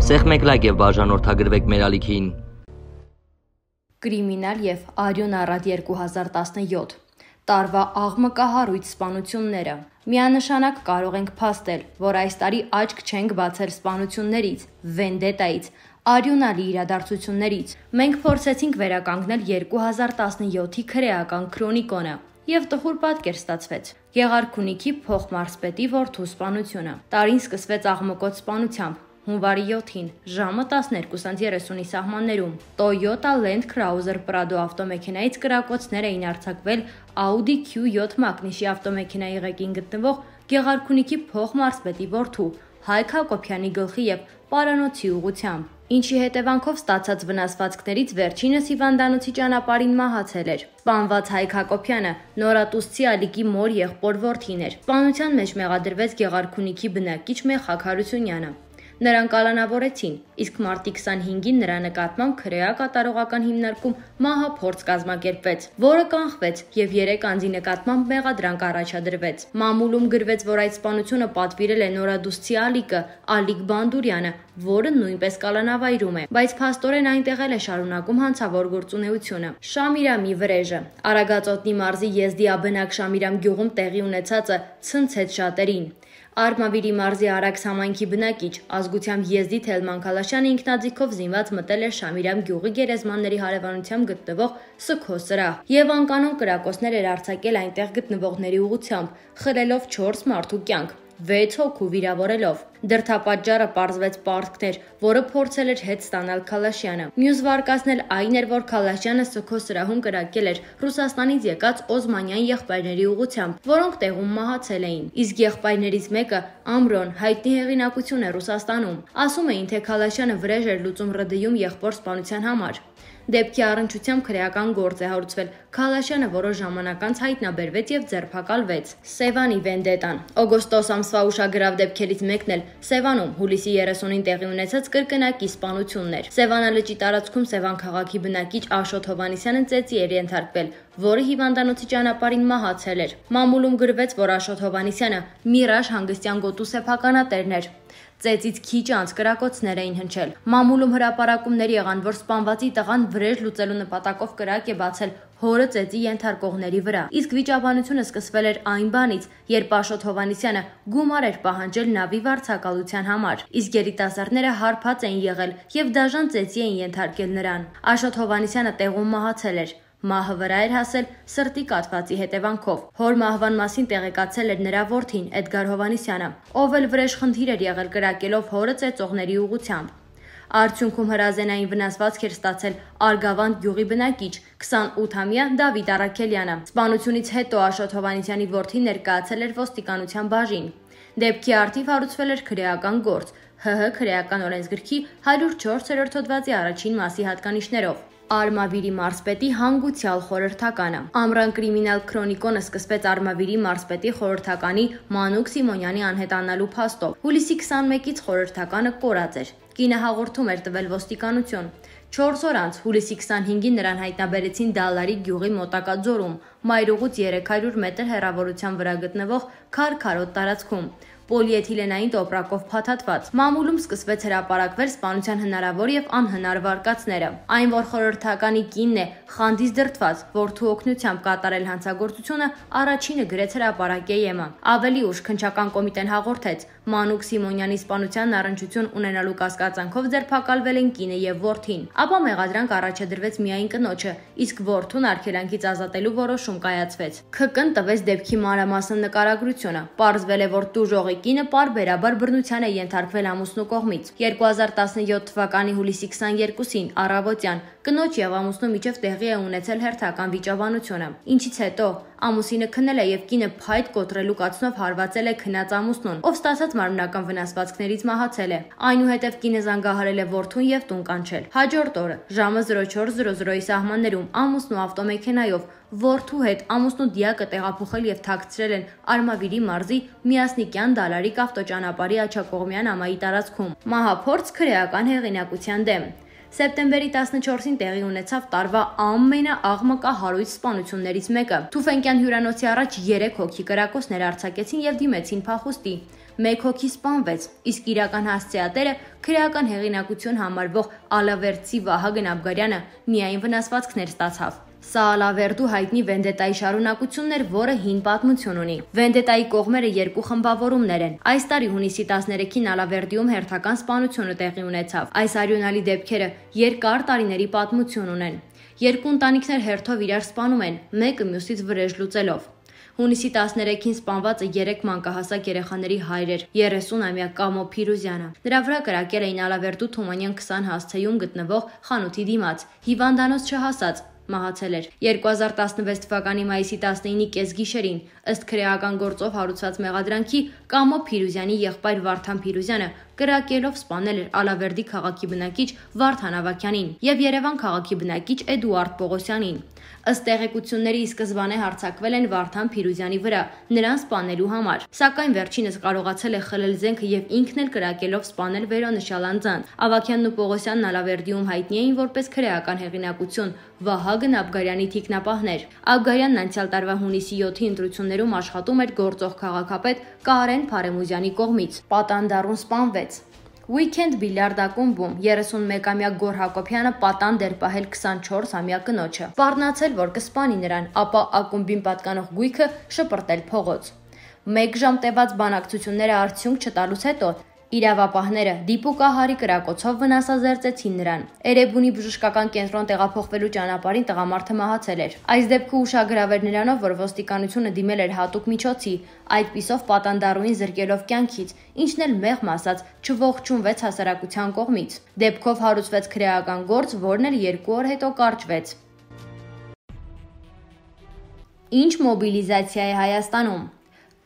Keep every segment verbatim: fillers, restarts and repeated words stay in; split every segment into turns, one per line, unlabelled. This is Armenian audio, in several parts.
Սեղմեք լայք եւ բաժանորդագրվեք մեր ալիքին։
Կրիմինալ եւ Արյուն առատ երկու հազար տասնյոթ տարվա աղմկահարույց սպանությունները։ Միանշանակ կարող ենք փաստել, որ այս տարի աչք չենք բացել սպանություններից, վենդետայից, արյունալի իրադարձություններից։ Մենք փորձեցինք վերականգնել երկու հազար տասնյոթի քրեական քրոնիկոնը եւ տխուր պատկեր ստացվեց։ Գեղարքունիքի փոխմարզպետի որդու սպանությունը։ Տարին սկսվեց աղմկոտ սպանությամբ։ Հունվարի յոթին ժամը տասներկուսը երեսունի սահմաններում Toyota Land Cruiser Prado ավտոմեքենայից կրակոցներ էին արձակվել Audi Q յոթ մակնիշի ավտոմեքենայի ղեկին գտնվող Գեղարքունիքի փոխմարզպետի որդու Հայկ Հակոբյանի գլխի եւ պարանոցի ուղղությամբ, ինչի հետևանքով ստացած վնասվածքներից վերջինս հիվանդանոցի ճանապարհին մահացել էր։ Սպանված Հայկ Հակոբյանը նորատուսցի Ալիկի մոր եղբոր որդին էր։ Սպանության մեջ մեղադրվեց Գեղարքունիքի բնակիչ Մեխակ Հարությունյանը։ Նրան կալանավորեցին, իսկ մարտի քսանհինգին նրա նկատմամբ քրեա կատարողական հիմնարկում մահափորձ կազմակերպվեց, որը կանխվեց եւ երեք անձի նկատմամբ մեղադրանք առաջադրվեց։ Մամուլում գրվեց, որ այդ սպանությունը պատվիրել է նորադուսցի Ալիկը, Ալիկ Բանդուրյանը, որը նույնպես կալանավայրում է, բայց փաստորեն այնտեղ էլ է շարունակում հանցավոր գործունեությունը։ Շամիրամի վրեժը Արագածոտնի մարզի Եզդիաբնակ Շամիրամ գյուղում տեղի ունեցածը ցնցեց շատերին։ Արմավիրի մարզի Արաքս համայնքի բնակիչ, ազգությամբ Եզդի Թելման Քալաշյանը ինքնաձիգով զինված մտել էր Շամիրամ գյուղի գերեզմանների հարևանությամբ գտնվող Սքո սրահ եւ անկանոն կրակոցներ էր արձակել այնտեղ գտնվողների ուղղությամբ, խլելով չորս մարդու կյանք, վեց հոգու վիրավորելով։ Դրդապատճառը պարզվեց պարտքներ, որը փորձել էր հետ ստանալ Քալաշյանը։ Մյուս վարկածն էլ այն էր, որ Քալաշյանը Սքո սրահում կրակել էր Ռուսաստանից եկած օզմանյան եղբայրների ուղղությամբ, որոնք տեղում մահացել էին։ Իսկ եղբայրներից մեկը Ամրոն հայտնի հեղինակություն է Ռուսաստանում։ Ասում էին, թե Քալաշյանը վրեժ էր լուծում ՌԴ-ում եղբոր սպանության համար։ Դեպքի առնչությամբ քրեական գործ է հարուցվել։ Քալաշյանը որոշ ժամանակ անց հայտնաբերվեց եւ ձերբակալվեց։ Սևանի վենդետան օգոստոս ամսվա ուշագրավ դեպքերից մեկն էլ Սևանում հուլիսի երեսունին տեղի ունեցած կրկնակի սպանությունն էր։ Սևանա լճի տարածքում Սևան քաղաքի բնակիչ Աշոտ Հովանեսյանը ծեծի էր ենթարկվել, որը հիվանդանոցի ճանապարհին մահացել էր։ Մամուլում գրվեց, որ Աշոտ Հովանեսյանը Միրաժ հանգստյան գոտու սեփականատերն էր։ Ծեծից քիչ անց կրակոցներ էին հնչել։ Մամուլում հրապարակումներ եղան, որ սպանվածի տղան վրեժ լուծելու նպատակով կրակ է բացել հորը ծեծի ենթարկողների վրա։ Իսկ վիճաբանությունը սկսվել էր այն բանից, երբ Աշոտ Հովանեսյանը գումար էր պահանջել նավի վարձակալության համար, իսկ երիտասարդները հարբած էին եղել եւ դաժան ծեծի էին ենթարկել նրան։ Աշոտ Հովանեսյանը տեղում մահացել էր։ Մահը վրա էր հասել սրտի կաթվածի հետևանքով։ Հոր մահվան մասին տեղեկացել էր նրա որդին Էդգար Հովանեսյանը, ով էլ վրեժ խնդիր էր եղել կրակելով հորը ծեծողների ուղղությամբ։ Արդյունքում հրազենային վնասվածք էր ստացել Արգավանդ գյուղի բնակիչ քսանութամյա Դավիթ Առաքելյանը։ Սպանությունից հետո Աշոտ Հովանեսյանի որդին ներկայացել էր ոստիկանության բաժին։ Դեպքի առթիվ հարուցվել էր քրեական գործ ՀՀ քրեական օրենսգրքի հարյուր չորսերորդ հոդվածի առաջին մասի հատկանիշներով։ Արմավիրի մարզպետի հանգուցյալ խորհրդականը։ Ամռան կրիմինալ քրոնիկոնը սկսվեց Արմավիրի մարզպետի խորհրդականի Մանուկ Սիմոնյանի անհետանալու փաստով։ Հուլիսի քսանմեկից խորհրդականը կորած էր։ Կինը հաղորդում էր տվել ոստիկանություն։ Չորս օր անց հուլիսի քսանհինգին նրան հայտնաբերեցին Դալարի գյուղի մոտակա ձորում, մայրուղուց երեք հարյուր մետր հեռավորության վրա գտնվող քարքարոտ տարածքում, պոլիէթիլենային տոպրակով փաթաթված։ Մամուլում սկսվեց հրապարակվել սպանության հնարավոր եւ անհնար վարկածները։ Այն, որ խորհրդականի կինն է խանդից դրդված, որդու օգնությամբ կատարել հանցագործությունը, առաջինը գրեց հրապարակե ԵՄ։ Ավելի ուշ քննչական կոմիտեն հաղորդեց, Մանուկ Սիմոնյանի սպանության առնչություն ունենալու կասկածանքով ձերբակալվել են կինը եւ որդին։ Ապա մեղադրանք առաջադրվեց միայն կնոջը, իսկ որդուն արգելանքից ազատելու որոշում կայացվեց։ ՔԿ-ն տվեց դեպքի մանրամասն նկարագրությունը։ Պարզվել է, որ տուժողի կինը պարբերաբար բռնության է ենթարկվել ամուսնու կողմից։ երկու հազար տասնյոթ թվականի հուլիսի քսաներկուսին առավոտյան կնոջ եւ ամուսնու միջև տեղի է ունեցել հերթական վիճաբանությունը, ինչից հետո ամուսինը քնել է եւ կինը փայտ կոտրելու կացնով հարվածել է քնած ամուսնուն, ով ստացած մարմնական վնասվածքներից մահացել է։ Այնուհետև կինը զանգահարել է որդուն եւ տուն կանչել։ Հաջորդ օրը ժամը զրո չորս զրո զրոյի սահմաններում ամուսնու ավտոմեքենայով որդու հետ ամուսնու դիակը տեղափոխել եւ թաքցրել են Արմավիրի մարզի Միասնիկյան Դալարիկ ավտոճանապարհի աջակողմյան ամայի տարածքում։ Մահափորձ քրեական հեղինակության դեմ։ Սեպտեմբերի տասնչորսին տեղի ունեցավ տարվա ամենաաղմկահարույց սպանություններից մեկը։ Թուֆենկյան հյուրանոցի առաջ երեք հոգի կրակոցներ արձակեցին եւ դիմեցին փախուստի։ մեկ հոգի սպանվեց, իսկ իրական հասցեատերը քրեական հեղինակություն համարվող ալավերդցի Վահագն Աբգարյանը միայն վնասվածքներ ստացավ։ Սա Ալավերդու հայտնի վենդետայի շարունակությունն էր, որը հին պատմություն ունի։ Վենդետայի կողմերը երկու խմբավորումներ են։ Այս տարի հունիսի տասներեքին Ալավերդիում հերթական սպանությունը տեղի ունեցավ։ Այս արյունալի դեպքերը երկար տարիների պատմություն ունեն։ Երկու ընտանիքներ հերթով իրար սպանում են, մեկը մյուսից վրեժ լուծելով։ Հունիսի տասներեքին սպանվածը երեք մանկահասակ երեխաների հայր էր՝ երեսունամյա Կամո Փիրուզյանը։ Նրա վրա կրակել էին Ալավերդու Թումանյան քսան հասցեում գտնվող խանութի դիմաց, հիվանդանոց չհասած, մահացել էր։ երկու հազար տասնվեց թվականի մայիսի տասնինի կեսգիշերին, ըստ քրեական գործով հարուցված մեղադրանքի, Կամո Փիրուզյանի եղբայր Վարդան Փիրուզյանը կրակելով սպանել էր Ալավերդի քաղաքի բնակիչ Վարդան Ավագյանին եւ Երևան քաղաքի բնակիչ Էդուարդ Պողոսյանին։ Ըստ տեղեկությունների ի սկզբանե հարձակվել են Վարդան Փիրուզյանի վրա նրան սպանելու համար, սակայն վերջինս կարողացել է խլել զենքը եւ ինքն էլ կրակելով սպանել վերոնշյալ անձանց։ Ավագյանն ու Պողոսյանն Ալավերդիում հայտնի էին որպես քրեական հեղինակություն Վահագն Աբգարյանի թիկնապահներ։ Աբգարյանն անցյալ տարվա հունիսի յոթի ընտրություններում աշխատում էր գործող քաղաքապետ Կարեն Փարեմուզյանի կողմից։ Պատանդառուն սպանվեց։ Weekend բիլիարդ ակումբում երեսունմեկամյա Գոր Հակոբյանը պատանդ էր պահել քսանչորսամյա կնոջը։ Սպառնացել, որ կսպանի նրան, ապա ակումբին պատկանող գույքը շպրտել փողոց։ Մեկ ժամ տևած բանակցությունները արդյունք չտալուց հետո իրավապահները դիպուկահարի կրակոցով վնասազերծեցին նրան։ Էրեբունի բժշկական կենտրոն տեղափոխվելու ճանապարհին տղամարդը մահացել էր։ Այս դեպքը ուշագրավ էր նրանով, որ ոստիկանությունը դիմել էր հատուկ միջոցի, այդպիսով պատանդառուին զրկելով կյանքից, ինչն էլ մեղմ ասած չողջունվեց հասարակության կողմից։ Դեպքով հարուցվեց քրեական գործ, որն էլ երկու օր հետո կարճվեց։ Ինչ մոբիլիզացիա է Հայաստանում։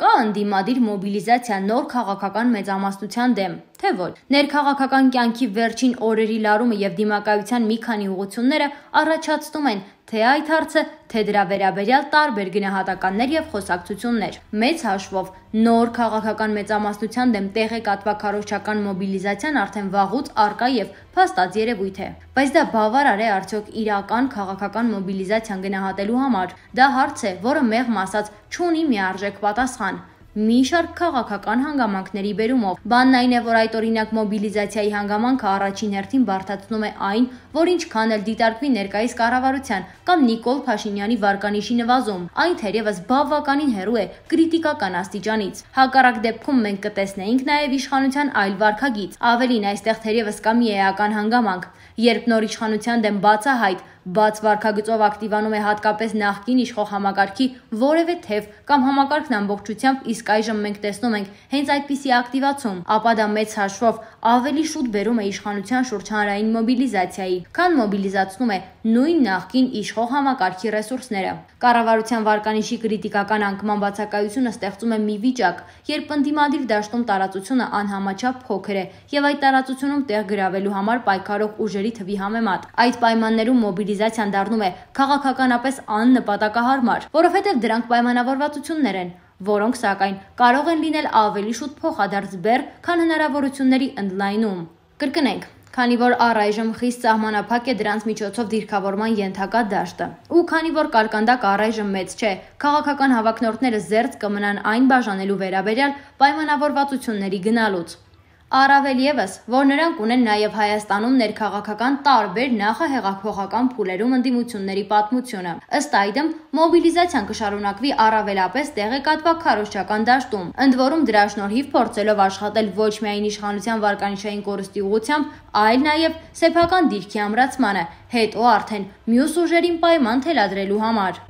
Կա ընդդիմադիր մոբիլիզացիա նոր քաղաքական մեծամասնության դեմ, թե ոչ։ Ներքաղաքական կյանքի վերջին օրերի լարումը եւ դիմակայության մի քանի ուղղությունները առաջացնում են թե այդ հարցը, թե դրա վերաբերյալ տարբեր գնահատականներ եւ խոսակցություններ։ Մեծ հաշվով նոր քաղաքական մեծամասնության դեմ տեղեկատվաքարոզչական մոբիլիզացիան արդեն վաղուց արկա եւ փաստած երևույթ է։ Բայց դա բավարար է արդյոք իրական քաղաքական մոբիլիզացիան գնահատելու համար։ Դա հարց է, որը մեղմ ասած չունի միարժեք պատասխան։ Մի շարք քաղաքական հանգամանքների բերումով։ Բանն այն է, որ այդ օրինակ մոբիլիզացիայի հանգամանքը առաջին հերթին բարդացնում է այն, որ ինչքան էլ դիտարկվի ներկայիս կառավարության կամ Նիկոլ Փաշինյանի վարկանիշի նվազում, այն թերևս բավականին հեռու է կրիտիկական աստիճանից։ Հակառակ դեպքում մենք կտեսնեինք նաև իշխանության այլ վարքագիծ։ Ավելին, այստեղ թերևս կա մի էական հանգամանք, երբ նոր իշխանության դեմ բացահայտ բաց վարքագծով ակտիվանում է հատկապես նախկին իշխող համակարգի որևէ թև կամ համակարգն ամբողջությամբ, իսկ այժմ մենք տեսնում ենք հենց այդպիսի ակտիվացում, ապա դա մեծ հաշվով ավելի շուտ բերում է իշխանության շուրջ հանրային մոբիլիզացիայի, քան մոբիլիզացնում է նույն նախկին իշխող համակարգի ռեսուրսները։ Կառավարության վարկանիշի կրիտիկական անկման բացակայությունը ստեղծում է մի վիճակ, երբ ընդդիմադիր դաշտում տարածությունը անհամաչափ փոքր է եւ այդ տարածությունում տեղ գրավելու համար պայքարող ուժերի թվի համեմատ։ Այդ պայմաններում մոբիլիզացիան դառնում է քաղաքականապես աննպատակահարմար, որովհետեւ դրանք պայմանավորվածություններ են, որոնք սակայն կարող են լինել ավելի շուտ փոխադարձ բեռ, քան հնարավորությունների ընդլայնում։ Կրկնենք, քանի որ առայժմ խիստ սահմանափակ է դրանց միջոցով դիրքավորման ենթակա դաշտը, ու քանի որ կարկանդակ առայժմ մեծ չէ, քաղաքական հավակնորդները զերծ կմնան այն բաժանելու վերաբերյալ պայմանավորվածությունների գնալուց։ Առավել ևս, որ նրանք ունեն նաև Հայաստանում ներքաղաքական տարբեր նախահեղափոխական փուլերում ընդդիմությունների պատմությունը։ Ըստ այդմ, մոբիլիզացիան կշարունակվի առավելապես տեղեկատվաքարոզչական դաշտում, ընդ որում դրա շնորհիվ փորձելով աշխատել ոչ միայն իշխանության վարկանիշային կորստի ուղղությամբ, այլ նաև սեփական դիրքի ամրացմանը, հետո արդեն մյուս ուժերին պայման թելադրելու համար։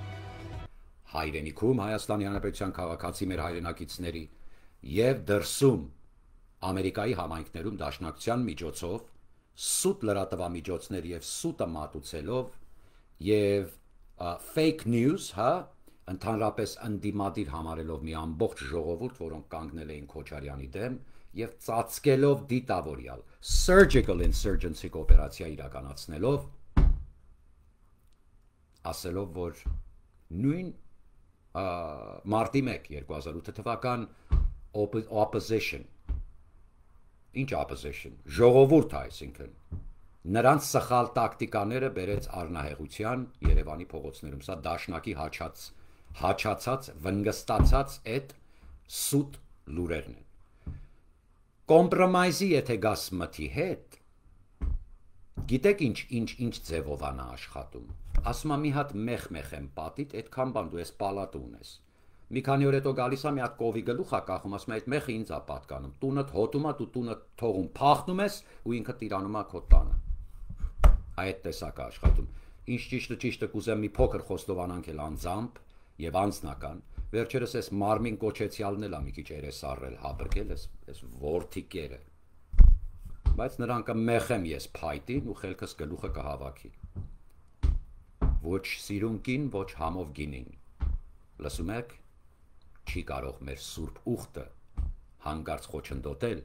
Հայրենիքում Հայաստանի Հանրապետության քաղաքացի մեր հայրենակիցների եւ դրսում Ամերիկայի համայնքներում դաշնակցության միջոցով սուտ լրատվամիջոցներ եւ սուտը մատուցելով եւ fake news, հա, ընդհանրապես ընդդիմադիր համարելով մի ամբողջ ժողովուրդ, որոնք կանգնել էին Քոչարյանի դեմ եւ ծածկելով դիտավորյալ surgical insurgency օպերացիա իրականացնելով, ասելով, որ նույն մարտի մեկ երկու հազար ութ թվական opposition Ինչ opposition, ժողովուրդ է, այսինքն նրանց սխալ տակտիկաները բերեց առնահեղության Երևանի փողոցներում, սա դաշնակի հաչած, հաչացած, վնգստացած այդ սուտ լուրերն են։ կոմպրոմայզի եթե գաս մթի հետ, գիտեք ինչ ինչ ինչ ձևով անա աշխատում։ Ասում եմ մի հատ մեղ-մեղ եմ պատիտ, այդքան բան դու ես պալատը ունես։ Մի քանի օր հետո գալիս եմ մի հատ կովի գլուխ ա կախում, ասում եմ այդ մեղը ինձ ա պատկանում։ Տունդ հոտում ա, դու տունը թողում, փախնում ես ու ինքը տիրանում ա քո տանը։ Այդ տեսակ աշխատում։ Ինչ ճիշտը ճիշտը կուզեմ մի փոքր խոստովանանք էլ անձամբ եւ անձնական։ Վերջերս էս մարմին կոչեցյալն էլ ա մի քիչ երես առել, հաբրկել էս էս ворթիկերը։ Բայց նրանք մեղեմ ես փայտին ու խելքս գլուխը կհավաքի։ Ոչ սիրունքին, ոչ համով գինին։ Լսում եք, չի կարող մեր սուրբ ուխտը հանգարց խոչընդոտել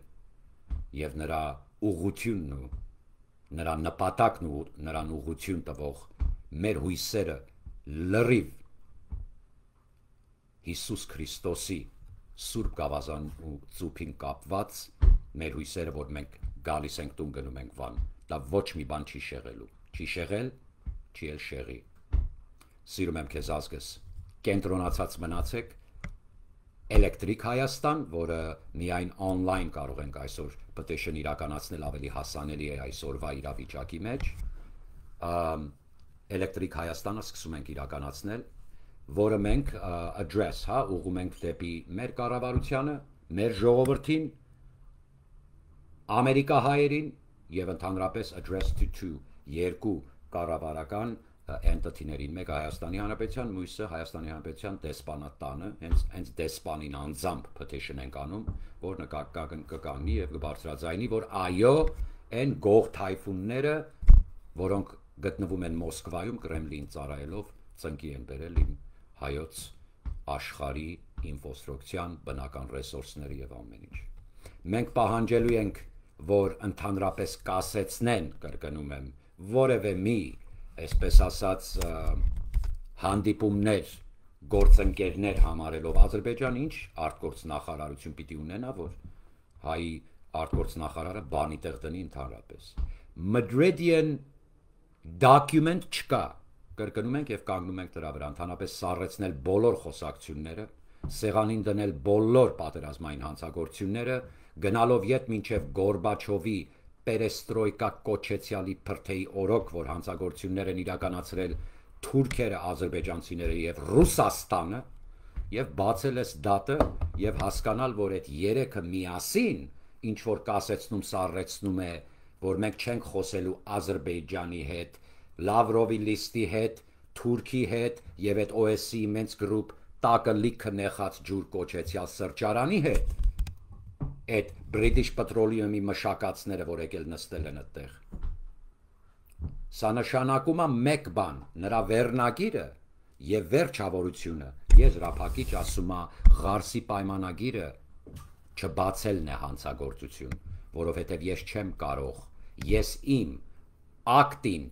եւ նրա ուղղությունն ու նրա նպատակն ու նրան ուղղություն տվող մեր հույսերը լրիվ Հիսուս Քրիստոսի սուրբ գավազան ու ծուփին կապված մեր հույսերը, որ մենք գալիս ենք տուն գնում ենք վան, դա ոչ մի բան չի շեղելու, չի շեղել, չի էլ շեղի։ Սիրում եմ քեզ ազգս, կենտրոնացած մնացեք, Էլեկտրիկ Հայաստան, որը միայն on-line կարող ենք այսօր petition իրականացնել ավելի հասանելի է այսօրվա իրավիճակի մեջ, Էլեկտրիկ Հայաստանը սկսում ենք իրականացնել, որը մենք address, հա, ուղղում ենք դեպի մեր կառավարությանը, մեր ժողովրդին, Ամերիկահայերին եւ ընդհանրապես address to two, երկու կառավարական entity-ներին, մեկը Հայաստանի Հանրապետության, մյուսը Հայաստանի Հանրապետության դեսպանատանը, հենց հենց դեսպանին անձամբ petition ենք անում, որ կկանգնի եւ կբարձրաձայնի, որ այո, այն գող թայֆունները, որոնք գտնվում են Մոսկվայում Կրեմլին ծառայելով, ծնկի են բերել իմ հայոց աշխարհի ինֆրաստրուկտուրան, բնական ռեսուրսները եւ ամեն ինչ։ Մենք պահանջելու ենք, որ ընդհանրապես կասեցնեն, կրկնում եմ, որևէ մի այսպես ասած հանդիպումներ, գործընկերներ համարելով Ադրբեջան ինչ արտգործնախարարություն պիտի ունենա, որ հայի արտգործնախարարը բանի տեղ դնի ընդհանրապես։ Madridian document չկա, կրկնում ենք եւ կանգնում ենք դրա վրա, ընդհանրապես սառեցնել բոլոր խոսակցությունները, սեղանին դնել բոլոր պատերազմային հանցագործությունները, գնալով ետ մինչև Գորբաչովի Պերեստրոյկա կոչեցյալի փրթեի օրոք, որ հանցագործություններ են իրականացրել թուրքերը, ադրբեջանցիները եւ Ռուսաստանը, եւ բացել էս դատը եւ հասկանալ, որ այդ երեքը միասին ինչ որ կասեցնում, սառեցնում է, որ մենք չենք խոսելու Ադրբեջանի հետ, Լավրովի լիստի հետ, Թուրքի հետ եւ այդ O S C-ի մենց գրուպ տակը լիքը նեղած ջուր կոչեցյալ սրճարանի հետ։ Այդ British Petroleum-ի մշակածները, որ եկել նստել են այդտեղ։ Սա նշանակում է մեկ բան, նրա վերնագիրը եւ վերջավորությունը, եզրափակիչ ասում է Ղարսի պայմանագիրը չբացելն է հանցագործություն, որովհետեւ ես չեմ կարող, ես իմ ակտին,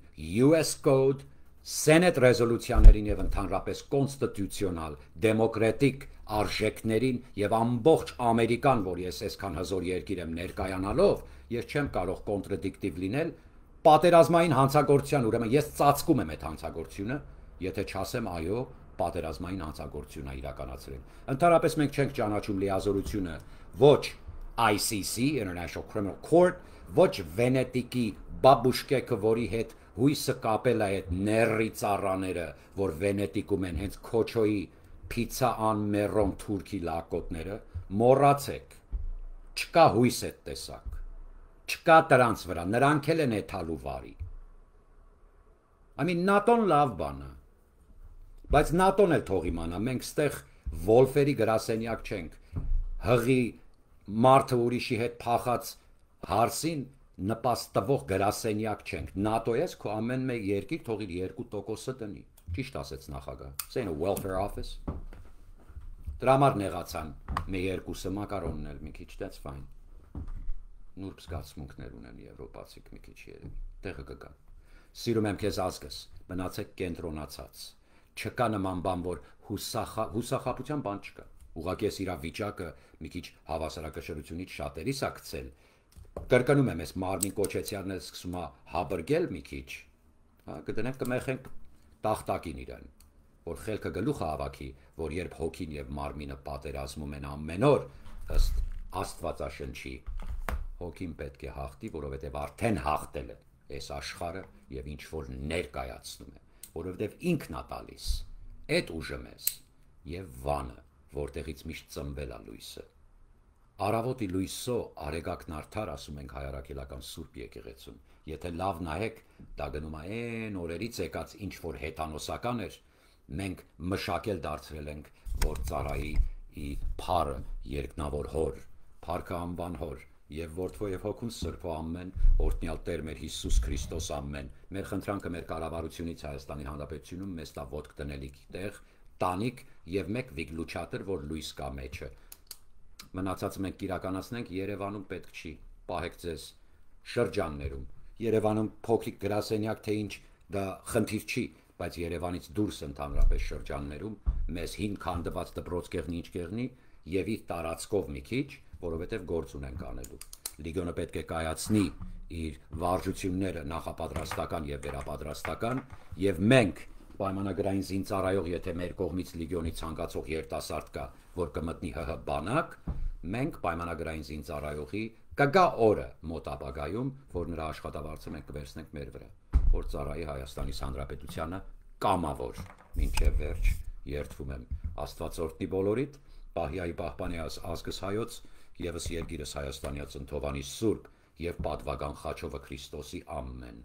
U S Code, Senate ռեզոլյուցիաներին եւ ընդհանրապես կոնստիտուցիոնալ, դեմոկրատիկ արժեքներին եւ ամբողջ Ամերիկան, որ ես այսքան հզոր երկիր եմ ներկայանալով, ես չեմ կարող կոնտրադիկտիվ լինել պատերազմային հանցագործության, ուրեմն ես ծածկում եմ այդ հանցագործությունը, եթե չասեմ այո, պատերազմային հանցագործություն է իրականացրել։ Ընդհանրապես մենք չենք ճանաչում լիազորությունը ոչ I C C, International Criminal Court, ոչ Վենետիկի բաբուշկեքը, որի հետ հույսը կապել է այդ ներրի ծառաները, որ Վենետիկում են հենց Քոչոյի Pizza an Meron Թուրքի լակոտները, մոռացեք, չկա հույս այդ տեսակ, չկա դրանց վրա, նրանք էլ են էթալու վարի։ I mean, նատոն լավ բան է, բայց նատոն էլ թող իմանա, մենք ստեղ Վոլֆերի գրասենյակ չենք, հղի մարդը ուրիշի հետ փախած հարսին նպաստ տվող գրասենյակ չենք, նատո ես քո ամեն մեկ երկիր թող իր երկու տոկոսը դնի, ճիշտ ասեց նախագահ, saying a welfare office, դրա համար նեղացան, մի երկուսը մակարոնն էլ մի քիչ, that's fine, նուրբ զգացմունքներ ունեն եվրոպացիք մի քիչ երևի, տեղը կգան, սիրում եմ քեզ ազգս, մնացեք կենտրոնացած, չկա նման բան, որ հուսախապության բան չկա, ուղղակի ես իրավիճակը մի քիչ հավասարակշռությունից շատերիս ա գցել, կրկնում եմ, ես մարմին կոչեցյալն էլ սկսում է հաբրգել մի քիչ, կդնենք կմեխենք տախտակին իրան, որ խելքը գլուխը հավաքի, որ երբ հոգին եւ մարմինը պատերազմում են ամեն օր, ըստ Աստվածաշնչի հոգին պետք է հաղթի, որովհետև արդեն հաղթել է այս աշխարհը եւ ինչ որ ներկայացնում է, որովհետև ինքն է տալիս այդ ուժը մեզ եւ վանը, որտեղից միշտ ծնվել է լույսը։ Արավոտի լույսո արեգակն արդար ասում ենք հայարակելական Սուրբ եկեղեցում։ Եթե լավ նայեք, դա գնում է այն օրերից եկած ինչ որ հեթանոսական էր, մենք մշակել դարձրել ենք, որ ծառայի ի փառը երկնավոր հոր, փառքը անվան հոր եւ որդու եւ հոգուն սրբո ամեն, օրհնյալ Տեր մեր Հիսուս Քրիստոս ամեն։ Մեր խնդրանքը մեր կառավարությունից Հայաստանի Հանրապետությունում մեզ տա ոտք տնելիք տեղ, տանիք եւ մեկ վիգլուչատր, որ լույս կա մեջը։ Մնացածը մենք իրականացնենք Երևանում պետք չի, պահեք ձեզ շրջաններում։ Երևանում փոքրիկ գրասենյակ թե ինչ դա խնդիր չի, բայց Երևանից դուրս ընդհանրապես շրջաններում մեզ հին քանդված դպրոց կեղնի ինչ կեղնի եւ իր տարածքով մի քիչ, որովհետեւ գործ ունենք անելու։ Լիգիոնը պետք է կայացնի իր վարժությունները նախապատրաստական եւ վերապատրաստական եւ մենք պայմանագրային զինծառայող, եթե մեր կողմից լիգիոնի ցանկացող երիտասարդ կա, որ կմտնի ՀՀ բանակ, մենք պայմանագրային զինծառայողի կգա օրը մոտ ապագայում, որ նրա աշխատավարձը մենք կվերցնենք մեր վրա, որ ծառայի Հայաստանի Հանրապետությանը կամավոր, մինչև վերջ երդվում եմ Աստված օրհնի բոլորիդ, Պահյայի պահպանի ազգս հայոց, եւս երկիրս Հայաստանյաց ընթովանի Սուրբ եւ պատվական Խաչովը Քրիստոսի ամեն։